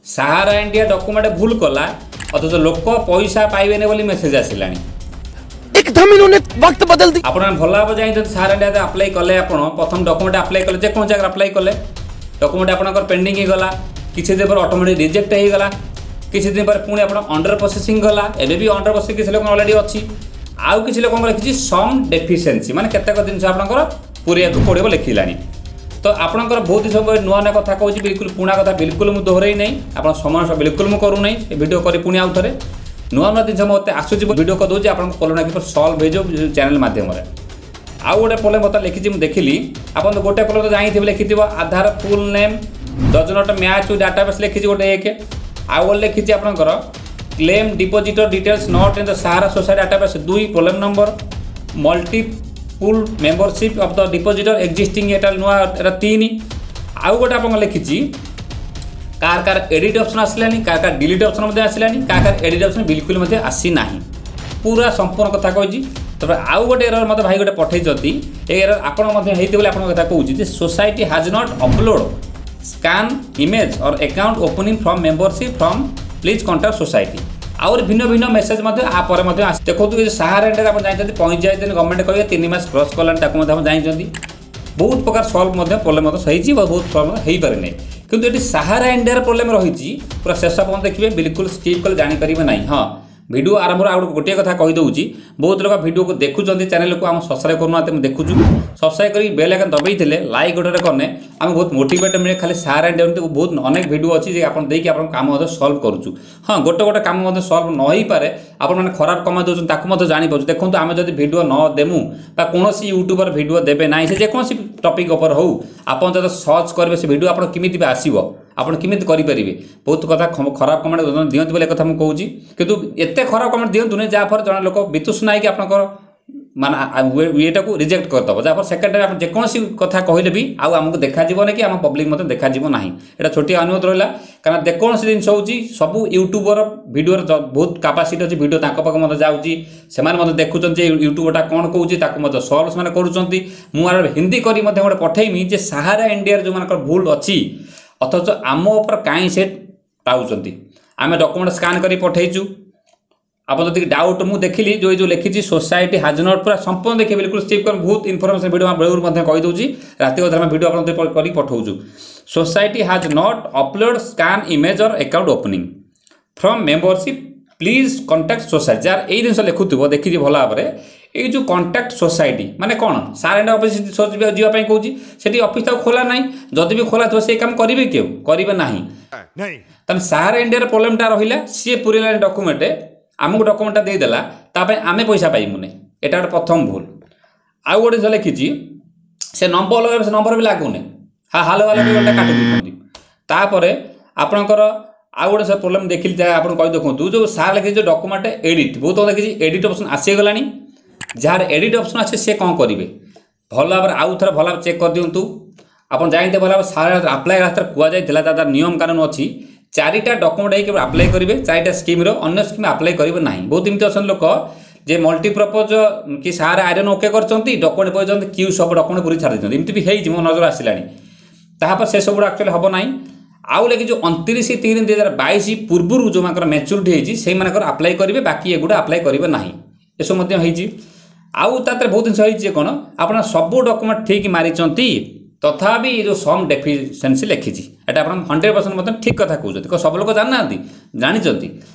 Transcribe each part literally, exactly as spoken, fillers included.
ସାହାରା India document ଭୁଲ କଲା ଅଥଚ ଲୋକ ପଇସା ପାଇବେନି ବୋଲି ମେସେଜ ଆସିଲାଣି एकदम इन्होंने वक्त बदल दिया ଆପଣ ଭଲ ଭାବେ ଜାଣିଛନ୍ତି ସାହାରା ଇଣ୍ଡିଆ ଆପ୍ଲାଏ କଲେ ଆପଣ ପ୍ରଥମ ଡକୁମେଣ୍ଟ ଆପ୍ଲାଏ କଲେ ଯେକୌଣସି ଜାଗାରେ ଆପ୍ଲାଏ କଲେ ଡକୁମେଣ୍ଟ ଆପଣଙ୍କର ପେଣ୍ଡିଂ ହେଇଗଲା କିଛି ଦିନ ପରେ ଅଟୋମେଟିକ୍ ରିଜେକ୍ଟ ହେଇଗଲା କିଛି ଦିନ ପରେ ପୁଣି ଆପଣ ଅଣ୍ଡର ପ୍ରୋସେସିଂ ଗଲା ଏବେ ବି ଅଣ୍ଡର ପ୍ରୋସେସିଂ କିଛି ଲୋକଙ୍କର ଅଲରେଡ଼ି ଅଛି ଆଉ କିଛି ଲୋକଙ୍କର ଲେଖିଛି ସମ୍ ଡେଫିସିଏନ୍ସି ମାନେ କେତେକ ଜିନିଷ ଆପଣଙ୍କର ପୁରେଇବାକୁ ପଡ଼ିବ ଲେଖିଲାଣି ତ ଆପଣଙ୍କର ବହୁତ ସବୁ ନୂଆ ନୂଆ କଥା କହୁଛି ବିଲକୁଲ ପୁରୁଣା କଥା ବିଲକୁଲ ମୁଁ ଦୋହରେଇ ନାହିଁ ଆପଣ ସମୟ ବିଲକୁଲ ମୁଁ କରୁନାହିଁ ଏ ଭିଡ଼ିଓ କରି ପୁଣି ଆଉ ଥରେ ନୂଆ ନୂଆ ଜିନିଷ ମୋତେ ଆସୁଛି ଭିଡ଼ିଓ କରିଦେଉଛି ଆପଣଙ୍କ ପ୍ରୋବ୍ଲେମ୍ କିପରି ସଲ୍ଭ ହେଇଯିବ ଚ୍ୟାନେଲ୍ ମାଧ୍ୟମରେ ଆଉ ଗୋଟେ ପ୍ରୋବ୍ଲେମ୍ ମୋତେ ଲେଖିଛି ମୁଁ ଦେଖିଲି ଆପଣ ତ ଗୋଟେ ପ୍ରୋବ୍ଲେମ୍ ତ ଜାଣିଥିବେ ଲେଖିଥିବ Aadhaar full name does not match database ଲେଖିଛି ଗୋଟେ ଏକ ଆଉ ଗୋଟେ ଲେଖିଛି ଆପଣଙ୍କର claim depositor details not in the Sahara society database ଦୁଇ problem number multiple membership of the depositor existing ଏଟା ନୂଆ ଏଟା ତିନି ଆଉ ଗୋଟେ ଆପଣଙ୍କ ଲେଖିଛି କାହାର କାହାର ଏଡ଼ିଟ୍ ଅପସନ୍ ଆସିଲାନି କାହାର କାହାର ଡିଲିଟ୍ ଅପସନ୍ ମଧ୍ୟ ଆସିଲାନି କାହାର କାହାର ଏଡ଼ିଟ୍ ଅପସନ୍ ବିଲକୁଲ ମଧ୍ୟ ଆସିନାହିଁ ପୁରା ସମ୍ପୂର୍ଣ୍ଣ କଥା କହିଛି ତାପରେ ଆଉ ଗୋଟେ ଏରର୍ ମୋତେ ଭାଇ ଗୋଟେ ପଠେଇଛନ୍ତି ଏ ଏରର୍ ଆପଣ ମଧ୍ୟ ହେଇଥିବ ବୋଲି ଆପଣଙ୍କ କଥା କହୁଛି ଯେ society has not upload scan image or account opening from membership form please contact society ଆହୁରି ଭିନ୍ନ ଭିନ୍ନ ମେସେଜ୍ ମଧ୍ୟ ଆ ପରେ ମଧ୍ୟ ଆସି ଦେଖନ୍ତୁ ଏ ସାହାରା ଇଣ୍ଡିଆରେ ଆପଣ ଜାଣିଛନ୍ତି ପଇଁଚାଳିଶ ଦିନ ଗଭର୍ଣ୍ଣମେଣ୍ଟ କହିବେ ତିନି ମାସ କ୍ରସ୍ କଲାଣି ତାକୁ ମଧ୍ୟ ଆପଣ ଜାଣିଛନ୍ତି ବହୁତ ପ୍ରକାର ସଲ୍ଭ ମଧ୍ୟ ପ୍ରୋବ୍ଲେମ୍ ମଧ୍ୟ ହେଇଛି ବା ବହୁତ ସଲ୍ଭ ହେଇପାରିନାହିଁ କିନ୍ତୁ ଏଠି ସାହାରା ଇଣ୍ଡିଆର ପ୍ରୋବ୍ଲେମ୍ ରହିଛି ପୁରା ଶେଷ ପର୍ଯ୍ୟନ୍ତ ଦେଖିବେ ବିଲକୁଲ ସ୍କିପ୍ କଲେ ଜାଣିପାରିବେ ନାହିଁ ହଁ ଭିଡ଼ିଓ ଆରମ୍ଭରୁ ଆଉ ଗୋଟିଏ କଥା କହିଦେଉଛି ବହୁତ ଲୋକ ଭିଡ଼ିଓକୁ ଦେଖୁଛନ୍ତି ଚ୍ୟାନେଲକୁ ଆମ ସବସ୍କ୍ରାଇବ୍ କରୁନାହାନ୍ତି ଆମେ ଦେଖୁଛୁ ସବସ୍କ୍ରାଇବ୍ କରିକି ବେଲ୍ ଆଇକନ୍ ଦବେଇଥିଲେ ଲାଇକ୍ ଗୋଟେ କଲେ ଆମକୁ ବହୁତ ମୋଟିଭେଟ୍ ମିଳେ ଖାଲି ସାହାରା ଇଣ୍ଡିଆ ଏମିତି ବହୁତ ଅନେକ ଭିଡ଼ିଓ ଅଛି ଯେ ଆପଣ ଦେଇକି ଆପଣଙ୍କ କାମ ମଧ୍ୟ ସଲ୍ଭ କରୁଛୁ ହଁ ଗୋଟେ ଗୋଟେ କାମ ମଧ୍ୟ ସଲ୍ଭ ନ ହେଇପାରେ ଆପଣମାନେ ଖରାପ କମେଣ୍ଟ ଦେଉଛନ୍ତି ତାକୁ ମଧ୍ୟ ଜାଣିପାରୁଛୁ ଦେଖନ୍ତୁ ଆମେ ଯଦି ଭିଡ଼ିଓ ନ ଦେମୁ ବା କୌଣସି ୟୁଟ୍ୟୁବର ଭିଡ଼ିଓ ଦେବେ ନାହିଁ ସେ ଯେକୌଣସି ଟପିକ୍ ଉପରେ ହଉ ଆପଣ ଯଦି ସର୍ଚ୍ଚ କରିବେ ସେ ଭିଡ଼ିଓ ଆପଣ କେମିତି ବି ଆସିବ ଆପଣ କେମିତି କରିପାରିବେ ବହୁତ କଥା ଖରାପ କମେଣ୍ଟ ଦିଅନ୍ତି ବୋଲି କଥା ମୁଁ କହୁଛି କିନ୍ତୁ ଏତେ ଖରାପ କମେଣ୍ଟ ଦିଅନ୍ତୁନି ଯାହାଫଳରେ ଜଣେ ଲୋକ ବିତୃଷ୍ଣା ହେଇକି ଆପଣଙ୍କର ମାନେ ଇଏଟାକୁ ରିଜେକ୍ଟ କରିଦେବ ଯାହାଫଳରେ ସେକେଣ୍ଡ ଟାଇମ୍ ଆପଣ ଯେକୌଣସି କଥା କହିଲେ ବି ଆଉ ଆମକୁ ଦେଖାଯିବନି କି ଆମ ପବ୍ଲିକ୍ ମଧ୍ୟ ଦେଖାଯିବ ନାହିଁ ଏଇଟା ଛୋଟିଆ ଅନୁରୋଧ ରହିଲା କାରଣ ଯେକୌଣସି ଜିନିଷ ହେଉଛି ସବୁ ୟୁଟ୍ୟୁବର ଭିଡ଼ିଓର ବହୁତ କାପାସିଟି ଅଛି ଭିଡ଼ିଓ ତାଙ୍କ ପାଖକୁ ମଧ୍ୟ ଯାଉଛି ସେମାନେ ମଧ୍ୟ ଦେଖୁଛନ୍ତି ଯେ ୟୁଟ୍ୟୁବରଟା କ'ଣ କହୁଛି ତାକୁ ମଧ୍ୟ ସଲ୍ଭ ସେମାନେ କରୁଛନ୍ତି ମୁଁ ଆର ହିନ୍ଦୀ କରି ମଧ୍ୟ ଗୋଟେ ପଠେଇମି ଯେ ସାହାରା ଇଣ୍ଡିଆର ଯେଉଁମାନଙ୍କର ଭୁଲ ଅଛି ଅଥଚ ଆମ ଉପରେ କାହିଁ ସେ ପାଉଛନ୍ତି ଆମେ ଡକୁମେଣ୍ଟ ସ୍କାନ୍ କରି ପଠେଇଛୁ ଆପଣ ଯଦି ଡାଉଟ୍ ମୁଁ ଦେଖିଲି ଯେଉଁ ଯେଉଁ ଲେଖିଛି ସୋସାଇଟି ହାଜ୍ not ପୁରା ସମ୍ପୂର୍ଣ୍ଣ ଦେଖିବେ ବିଲକୁଲ ସ୍କିପ୍ କରି ବହୁତ ଇନଫର୍ମେସନ୍ ଭିଡ଼ିଓ ବେଳରୁ ମଧ୍ୟ କହିଦେଉଛି ରାତି ଅଧରେ ଆମେ ଭିଡ଼ିଓ ଆପଣ କରିକି ପଠାଉଛୁ society has not upload scan image or account opening form membership please contact society ଯାହାର ଏଇ ଜିନିଷ ଲେଖୁଥିବ ଦେଖିଛି ଭଲ ଭାବରେ ଏଇ ଯେଉଁ କଣ୍ଟାକ୍ଟ ସୋସାଇଟି ମାନେ କ'ଣ ସାହାରା ଇଣ୍ଡିଆ ଅଫିସ୍ ଯିବା ପାଇଁ କହୁଛି ସେଠି ଅଫିସ୍ ତାକୁ ଖୋଲା ନାହିଁ ଯଦି ବି ଖୋଲା ଥିବ ସେଇ କାମ କରିବେ କେଉଁ କରିବେ ନାହିଁ ତାହେଲେ ସାହାରା ଇଣ୍ଡିଆର ପ୍ରୋବ୍ଲେମଟା ରହିଲା ସିଏ ପୁରେଇଲାନି ଡକୁମେଣ୍ଟ ଆମକୁ ଡକୁମେଣ୍ଟଟା ଦେଇଦେଲା ତା ପାଇଁ ଆମେ ପଇସା ପାଇବୁନି ଏଇଟା ଗୋଟେ ପ୍ରଥମ ଭୁଲ ଆଉ ଗୋଟେ ଜିନିଷ ଲେଖିଛି ସେ ନମ୍ବର ଲଗାଇବେ ସେ ନମ୍ବର ବି ଲାଗୁନି ହଁ ହାଲୋ ହାଲୋ ବି ଗୋଟେ କାଟି ଦେଉଛନ୍ତି ତାପରେ ଆପଣଙ୍କର ଆଉ ଗୋଟେ ସେ ପ୍ରୋବ୍ଲେମ୍ ଦେଖିଲି ଯାହା ଆପଣ କହି ଦେଖନ୍ତୁ ଯେଉଁ ସାର୍ ଲେଖିଛି ଯେଉଁ ଡକୁମେଣ୍ଟ ଏଡ଼ିଟ୍ ବହୁତ ଲେଖିଛି ଏଡ଼ିଟ୍ ଅପସନ୍ ଆସିଗଲାଣି ଯାହାର ଏଡ଼ିଟ୍ ଅପସନ୍ ଅଛି ସେ କ'ଣ କରିବେ ଭଲ ଭାବରେ ଆଉ ଥରେ ଭଲ ଭାବରେ ଚେକ୍ କରିଦିଅନ୍ତୁ ଆପଣ ଜାଣିଥିବେ ଭଲ ଭାବରେ ସାର୍ ଆପ୍ଲାଏ ରାସ୍ତାରେ କୁହାଯାଇଥିଲା ତା ନିୟମ କାନୁନ ଅଛି ଚାରିଟା ଡକୁମେଣ୍ଟ ହେଇକି ଆପ୍ଲାଏ କରିବେ ଚାରିଟା ସ୍କିମ୍ର ଅନ୍ୟ ସ୍କିମ୍ ଆପ୍ଲାଏ କରିବେ ନାହିଁ ବହୁତ ଏମିତି ଅଛନ୍ତି ଲୋକ ଯେ ମଲ୍ଟିପର୍ପଜ୍ କି ସାହାରା ଆଇରନ୍ ଓକେ କରିଛନ୍ତି ଡକୁମେଣ୍ଟ କହିଛନ୍ତି କ୍ୟୁ ସବୁ ଡକୁମେଣ୍ଟ ପୁରୀ ଛାଡ଼ି ଦେଇଛନ୍ତି ଏମିତି ବି ହେଇଛି ମୋ ନଜର ଆସିଲାଣି ତାହାପରେ ସେସବୁ ଆକ୍ଚୁଆଲି ହେବ ନାହିଁ ଆଉ ଲେଖି ଯେଉଁ ଅଣତିରିଶ ତିନି ଦୁଇ ହଜାର ବାଇଶ ପୂର୍ବରୁ ଯେଉଁମାନଙ୍କର ମ୍ୟାଚୁରିଟି ହେଇଛି ସେଇମାନଙ୍କର ଆପ୍ଲାଏ କରିବେ ବାକି ଏଗୁଡ଼ା ଆପ୍ଲାଏ କରିବେ ନାହିଁ ଏସବୁ ମଧ୍ୟ ହେଇଛି ଆଉ ତା ଦେହରେ ବହୁତ ଜିନିଷ ହେଇଛି ଯେ କ'ଣ ଆପଣ ସବୁ ଡକୁମେଣ୍ଟ ଠିକ୍ ମାରିଛନ୍ତି ତଥାପି ଏ ଯେଉଁ ସମ୍ ଡେଫିସିଏନ୍ସି ଲେଖିଛି ଏଇଟା ଆପଣ ହଣ୍ଡ୍ରେଡ଼ ପରସେଣ୍ଟ ମଧ୍ୟ ଠିକ୍ କଥା କହୁଛନ୍ତି ସବୁ ଲୋକ ଜାଣିନାହାନ୍ତି ଜାଣିଛନ୍ତି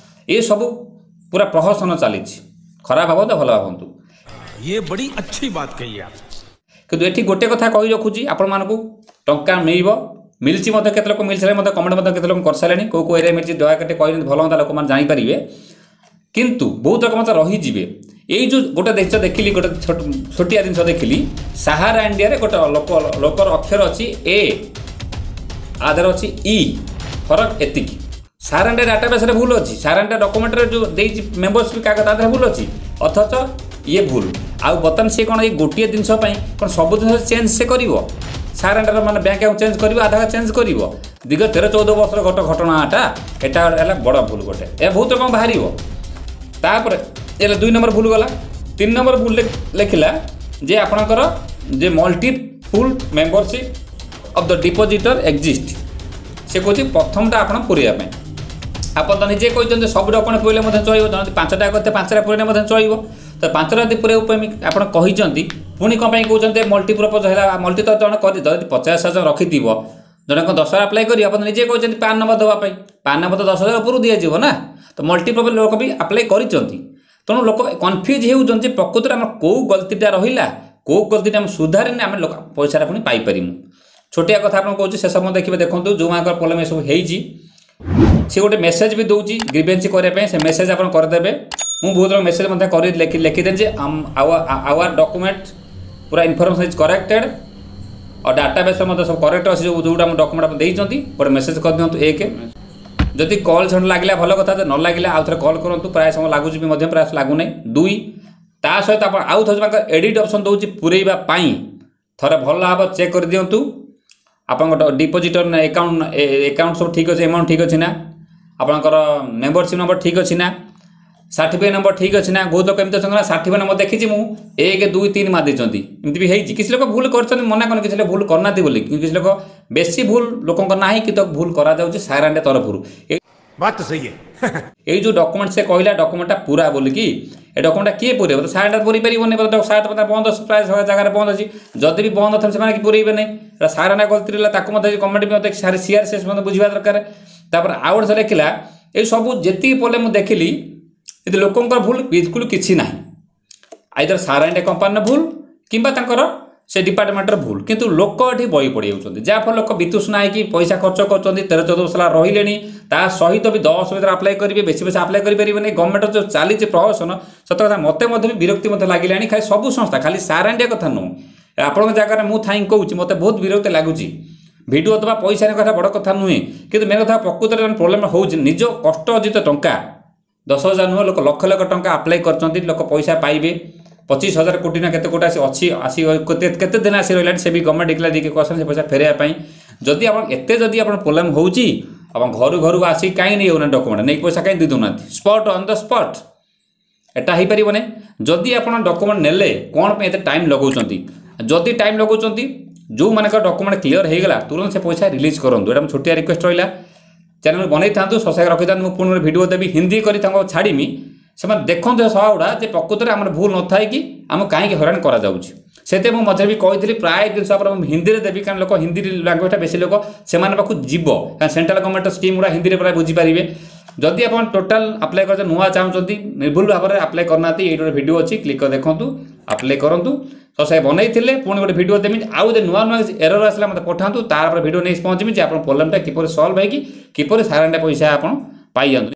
ଏସବୁ ପୁରା ପ୍ରହସନ ଚାଲିଛି ଖରାପ ଭାବନ୍ତୁ ଭଲ ଭାବନ୍ତୁ ये बड़ी अच्छी बात कही आप କିନ୍ତୁ ଏଠି ଗୋଟେ କଥା କହି ରଖୁଛି ଆପଣମାନଙ୍କୁ ଟଙ୍କା ମିଳିବ ମିଳିଛି ମଧ୍ୟ କେତେ ଲୋକ ମିଳିସାରିଲେ ମଧ୍ୟ କମେଣ୍ଟ ମଧ୍ୟ କେତେ ଲୋକ କରିସାରିଲେଣି କେଉଁ କେଉଁ ଏରିଆ ମିଳିଛି ଦୟାକରି କହିଲେ ଭଲ ହୁଅନ୍ତା ଲୋକମାନେ ଜାଣିପାରିବେ କିନ୍ତୁ ବହୁତ ଲୋକ ମଧ୍ୟ ରହିଯିବେ ଏଇ ଯେଉଁ ଗୋଟେ ଜିନିଷ ଦେଖିଲି ଗୋଟେ ଛୋଟ ଛୋଟିଆ ଜିନିଷ ଦେଖିଲି ସାହାରା ଇଣ୍ଡିଆରେ ଗୋଟେ ଲୋକ ଲୋକର ଅକ୍ଷର ଅଛି ଏ ଆଧାର ଅଛି ଇ ଫରକ ଏତିକି ସାହାରା ଇଣ୍ଡିଆ ଡାଟାବେସ୍ରେ ଭୁଲ ଅଛି ସାହାରା ଇଣ୍ଡିଆ ଡକୁମେଣ୍ଟରେ ଯେଉଁ ଦେଇଛି ମେମ୍ବରସିପ୍ କାଗଜ ତା ଦେହରେ ଭୁଲ ଅଛି ଅଥଚ ଇଏ ଭୁଲ ଆଉ ବର୍ତ୍ତମାନ ସିଏ କ'ଣ ଏଇ ଗୋଟିଏ ଜିନିଷ ପାଇଁ କ'ଣ ସବୁ ଜିନିଷ ଚେଞ୍ଜ ସେ କରିବ ସାହାରା ଇଣ୍ଡିଆର ମାନେ ବ୍ୟାଙ୍କ ଆକାଉଣ୍ଟ ଚେଞ୍ଜ କରିବ ଆଧାର ଚେଞ୍ଜ କରିବ ଦୀର୍ଘ ତେର ଚଉଦ ବର୍ଷର ଗୋଟେ ଘଟଣାଟା ଏଟା ହେଲା ବଡ଼ ଭୁଲ ଗୋଟେ ଏହା ବହୁତ ରକମ ବାହାରିବ ତାପରେ ଏଲେ ଦୁଇ ନମ୍ବର ଭୁଲ ଗଲା ତିନି ନମ୍ବର ଭୁଲ ଲେଖିଲା ଯେ ଆପଣଙ୍କର ଯେ multiple membership of the depositor exist ସେ କହୁଛି ପ୍ରଥମଟା ଆପଣ ପୁରେଇବା ପାଇଁ ଆପଣ ତ ନିଜେ କହିଛନ୍ତି ସବୁ ଡକୁମେଣ୍ଟ ପୁରେଇଲେ ମଧ୍ୟ ଚଳିବ ଯଦି ପାଞ୍ଚଟା କରିତେ ପାଞ୍ଚଟା ପୁରେଇଲେ ମଧ୍ୟ ଚଳିବ ତ ପାଞ୍ଚଟା ଯଦି ପୁରେଇବା ପାଇଁ ଆପଣ କହିଛନ୍ତି ପୁଣି କ'ଣ ପାଇଁ କହୁଛନ୍ତି ମଲ୍ଟିପର୍ପଜ୍ ହେଲା ମଲ୍ଟି ତ ଜଣେ କରି ଯଦି ପଚାଶ ହଜାର ରଖିଥିବ ଜଣେ କ'ଣ ଦଶ ହଜାର ଆପ୍ଲାଏ କରିବ ଆପଣ ନିଜେ କହିଛନ୍ତି ପାନ୍ ନମ୍ବର ଦେବା ପାଇଁ ପାନ୍ ନମ୍ବର ତ ଦଶ ହଜାର ଉପରକୁ ଦିଆଯିବ ନା ତ ମଲ୍ଟିପର୍ପଜ୍ ଲୋକ ବି ଆପ୍ଲାଏ କରିଛନ୍ତି ତେଣୁ ଲୋକ କନଫ୍ୟୁଜ୍ ହେଉଛନ୍ତି ଯେ ପ୍ରକୃତରେ ଆମର କେଉଁ ଗଲତିଟା ରହିଲା କେଉଁ ଗଲତିଟା ଆମେ ସୁଧାରିନେ ଆମେ ଲୋକ ପଇସାଟା ପୁଣି ପାଇପାରିମୁ ଛୋଟିଆ କଥା ଆପଣ କହୁଛି ସେସବୁ ମଧ୍ୟ ଦେଖିବେ ଦେଖନ୍ତୁ ଯେଉଁମାନଙ୍କର ପ୍ରୋବ୍ଲେମ୍ ଏସବୁ ହେଇଛି ସେ ଗୋଟେ ମେସେଜ୍ ବି ଦେଉଛି ଗ୍ରିଭେନ୍ସି କରିବା ପାଇଁ ସେ ମେସେଜ୍ ଆପଣ କରିଦେବେ ମୁଁ ବହୁତ ମେସେଜ୍ ମଧ୍ୟ କରି ଲେଖି ଲେଖିଦେଲି ଯେ ଆୱାର ଡକୁମେଣ୍ଟ ପୁରା ଇନଫର୍ମେସନ୍ is କରେକ୍ଟେଡ଼ ଆଉ ଡାଟାବେସ୍ ମଧ୍ୟ ସବୁ କରେକ୍ଟ ଅଛି ଯେଉଁ ଯେଉଁଟା ଆମ ଡକୁମେଣ୍ଟ ଆପଣ ଦେଇଛନ୍ତି ଗୋଟେ ମେସେଜ୍ କରିଦିଅନ୍ତୁ ଏକ ଯଦି କଲ୍ ସେଣ୍ଟର ଲାଗିଲା ଭଲ କଥା ନ ଲାଗିଲା ଆଉ ଥରେ କଲ୍ କରନ୍ତୁ ପ୍ରାୟ ସମୟ ଲାଗୁଛି ବି ମଧ୍ୟ ପ୍ରାୟ ଲାଗୁନାହିଁ ଦୁଇ ତା ସହିତ ଆପଣ ଆଉ ଥରେ ତାଙ୍କର ଏଡ଼ିଟ୍ ଅପସନ୍ ଦେଉଛି ପୁରେଇବା ପାଇଁ ଥରେ ଭଲ ଭାବରେ ଚେକ୍ କରିଦିଅନ୍ତୁ ଆପଣଙ୍କ ଡିପୋଜିଟର ଆକାଉଣ୍ଟ ଆକାଉଣ୍ଟ ସବୁ ଠିକ୍ ଅଛି ଆମାଉଣ୍ଟ ଠିକ୍ ଅଛି ନା ଆପଣଙ୍କର ମେମ୍ବରସିପ୍ ନମ୍ବର ଠିକ୍ ଅଛି ନା ସାର୍ଟିଫିକେଟ୍ ନମ୍ବର ଠିକ୍ ଅଛି ନା ବହୁତ ଲୋକ ଏମିତି ଅଛନ୍ତି ନା ସାର୍ଟିଫିକେଟ୍ ନମ୍ବର ଦେଖିଛି ମୁଁ ଏକ ଦୁଇ ତିନି ମାରି ଦେଇଛନ୍ତି ଏମିତି ବି ହେଇଛି କିଛି ଲୋକ ଭୁଲ କରିଛନ୍ତି ମନା କରୁନି କିଛି ଲୋକ ଭୁଲ କରିନାହାନ୍ତି ବୋଲି କିନ୍ତୁ କିଛି ଲୋକ ବେଶୀ ଭୁଲ ଲୋକଙ୍କ ନାହିଁ କିନ୍ତୁ ଭୁଲ କରାଯାଉଛି ସାର ଇଣ୍ଡିଆ ତରଫରୁ बात तो सही है ଏଇ ଯେଉଁ ଡକୁମେଣ୍ଟ ସେ କହିଲା ଡକୁମେଣ୍ଟଟା ପୁରା ବୋଲିକି ଏ ଡକୁମେଣ୍ଟଟା କିଏ ପୁରେଇବ ତ ସାର ଇଣ୍ଡିଆ ପୁରେଇ ପାରିବନି ସାର ତ ବନ୍ଦ ଅଛି ପ୍ରାୟ ଜାଗାରେ ବନ୍ଦ ଅଛି ଯଦି ବି ବନ୍ଦ ଥିବ ସେମାନେ କି ପୁରେଇବେ ନାହିଁ ଏଟା ସାର ଇଣ୍ଡିଆ ଗଲତି ରହିଲା ତାକୁ ମଧ୍ୟ ଗଭର୍ଣ୍ଣମେଣ୍ଟ ବି ମଧ୍ୟ ସାର ସିଆରସିଏସ୍ ମଧ୍ୟ ବୁଝିବା ଦରକାର ତାପରେ ଆଉ ଗୋଟେ ଲେଖିଲା ଏଇ ସବୁ ଯେତିକି ପ୍ରୋବ୍ଲେମ୍ ମୁଁ ଦେଖିଲି ଏଠି ଲୋକଙ୍କର ଭୁଲ ବିଲକୁଲ କିଛି ନାହିଁ ଆଇଦର ସାର ଇଣ୍ଡିଆ କମ୍ପାନୀର ଭୁଲ କିମ୍ବା ତାଙ୍କର ସେ ଡିପାର୍ଟମେଣ୍ଟର ଭୁଲ କିନ୍ତୁ ଲୋକ ଏଠି ବଳି ପଡ଼ିଯାଉଛନ୍ତି ଯାହାଫଳରେ ଲୋକ ବିତୃଷ୍ଣା ହେଇକି ପଇସା ଖର୍ଚ୍ଚ କରୁଛନ୍ତି ତେର ଚଉଦ ବର୍ଷ ହେଲା ରହିଲେଣି ତା ସହିତ ବି ଦଶ ଭିତରେ ଆପ୍ଲାଏ କରିବେ ବେଶୀ ପଇସା ଆପ୍ଲାଏ କରିପାରିବେନି ଗଭର୍ଣ୍ଣମେଣ୍ଟର ଯେଉଁ ଚାଲିଛି ପ୍ରହସନ ସତ କଥା ମୋତେ ମଧ୍ୟ ବି ବିରକ୍ତି ମଧ୍ୟ ଲାଗିଲାଣି ଖାଲି ସବୁ ସଂସ୍ଥା ଖାଲି ସାର ଇଣ୍ଡିଆ କଥା ନୁହଁ ଆପଣଙ୍କ ଜାଗାରେ ମୁଁ ଥାଇକି କହୁଛି ମୋତେ ବହୁତ ବିରକ୍ତି ଲାଗୁଛି ଭିଡ଼ିଓ ଦେବା ପଇସା କଥା ବଡ଼ କଥା ନୁହେଁ କିନ୍ତୁ ମେନ୍ କଥା ପ୍ରକୃତରେ ପ୍ରୋବ୍ଲେମ୍ ହେଉଛି ନିଜ କଷ୍ଟ ଅର୍ଜିତ ଟଙ୍କା ଦଶ ହଜାର ନୁହଁ ଲୋକ ଲକ୍ଷ ଲକ୍ଷ ଟଙ୍କା ଆପ୍ଲାଏ କରିଛନ୍ତି ଲୋକ ପଇସା ପାଇବେ ପଚିଶ ହଜାର କୋଟି ନା କେତେ କୋଟି ଆସି ଅଛି ଆସି କେତେ କେତେ ଦିନ ଆସି ରହିଲାଣି ସେ ବି ଗଭର୍ଣ୍ଣମେଣ୍ଟ ଡିକ୍ଲେୟାର ଦେଇକି କହିଛନ୍ତି ସେ ପଇସା ଫେରାଇବା ପାଇଁ ଯଦି ଆପଣ ଏତେ ଯଦି ଆପଣ ପ୍ରୋବ୍ଲେମ୍ ହେଉଛି ଆପଣ ଘରୁ ଘରକୁ ଆସିକି କାହିଁ ନେଇ ହେଉନାହାନ୍ତି ଡକୁମେଣ୍ଟ ନେଇକି ପଇସା କାହିଁ ଦେଇ ଦେଉନାହାନ୍ତି ସ୍ପଟ୍ ଅନ୍ the spot ଏଟା ହେଇପାରିବ ନାହିଁ ଯଦି ଆପଣ ଡକୁମେଣ୍ଟ ନେଲେ କ'ଣ ପାଇଁ ଏତେ ଟାଇମ୍ ଲଗାଉଛନ୍ତି ଯଦି ଟାଇମ୍ ଲଗାଉଛନ୍ତି ଯେଉଁମାନଙ୍କର ଡକୁମେଣ୍ଟ କ୍ଲିୟର ହେଇଗଲା ତୁରନ୍ତ ସେ ପଇସା ରିଲିଜ୍ କରନ୍ତୁ ଏଇଟା ମୋ ଛୋଟିଆ ରିକ୍ୱେଷ୍ଟ ରହିଲା ଚ୍ୟାନେଲ୍ ବନେଇଥାନ୍ତୁ ସବସ୍କ୍ରାଇବ୍ ରଖିଥାନ୍ତୁ ମୁଁ ପୁଣି ଗୋଟେ ଭିଡ଼ିଓ ଦେବି ହିନ୍ଦୀ କରି ତାଙ୍କୁ ଛାଡ଼ିମି ସେମାନେ ଦେଖନ୍ତୁ ଏ ସଭା ଗୁଡ଼ା ଯେ ପ୍ରକୃତରେ ଆମର ଭୁଲ ନଥାଏ କି ଆମକୁ କାହିଁକି ହଇରାଣ କରାଯାଉଛି ସେଥିପାଇଁ ମୁଁ ମଝିରେ ବି କହିଥିଲି ପ୍ରାୟ ଜିନିଷ ଆପଣ ମୁଁ ହିନ୍ଦୀରେ ଦେବି କାରଣ ଲୋକ ହିନ୍ଦୀ ଲାଙ୍ଗୁଏଜଟା ବେଶୀ ଲୋକ ସେମାନଙ୍କ ପାଖକୁ ଯିବ କାରଣ ସେଣ୍ଟ୍ରାଲ ଗଭର୍ଣ୍ଣମେଣ୍ଟର ସ୍କିମ୍ ଗୁଡ଼ା ହିନ୍ଦୀରେ ପ୍ରାୟ ବୁଝିପାରିବେ ଯଦି ଆପଣ ଟୋଟାଲ୍ ଆପ୍ଲାଏ କରୁଛନ୍ତି ନୂଆ ଚାହୁଁଛନ୍ତି ନିର୍ଭୁଲ ଭାବରେ ଆପ୍ଲାଏ କରିନାହାନ୍ତି ଏଇଠି ଗୋଟେ ଭିଡ଼ିଓ ଅଛି କ୍ଲିକ୍ କରି ଦେଖନ୍ତୁ ଆପ୍ଲାଏ କରନ୍ତୁ ତ ସେ ବନେଇଥିଲେ ପୁଣି ଗୋଟେ ଭିଡ଼ିଓ ଦେବି ଆଉ ଯଦି ନୂଆ ନୂଆ ଏରର ଆସିଲା ମୋତେ ପଠାନ୍ତୁ ତାପରେ ଭିଡ଼ିଓ ନେଇ ପହଞ୍ଚିବି ଯେ ଆପଣ ପ୍ରୋବ୍ଲେମଟା କିପରି ସଲ୍ଭ ହେଇକି କିପରି ସାର ଇଣ୍ଡିଆ ପଇସା ଆପଣ ପାଇଯାଆନ୍ତୁ।